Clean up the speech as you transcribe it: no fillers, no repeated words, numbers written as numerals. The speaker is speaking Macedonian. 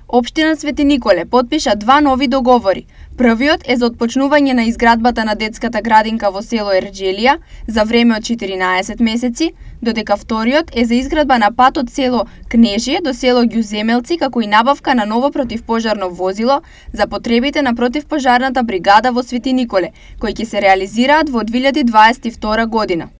Општина Свети Николе потпиша два нови договори. Првиот е за отпочнување на изградбата на детската градинка во село Ерџелија за време од 14 месеци, додека вториот е за изградба на пат од село Кнежие до село Ѓуземелци, како и набавка на ново противпожарно возило за потребите на противпожарната бригада во Свети Николе, кои ќе се реализираат во 2022 година.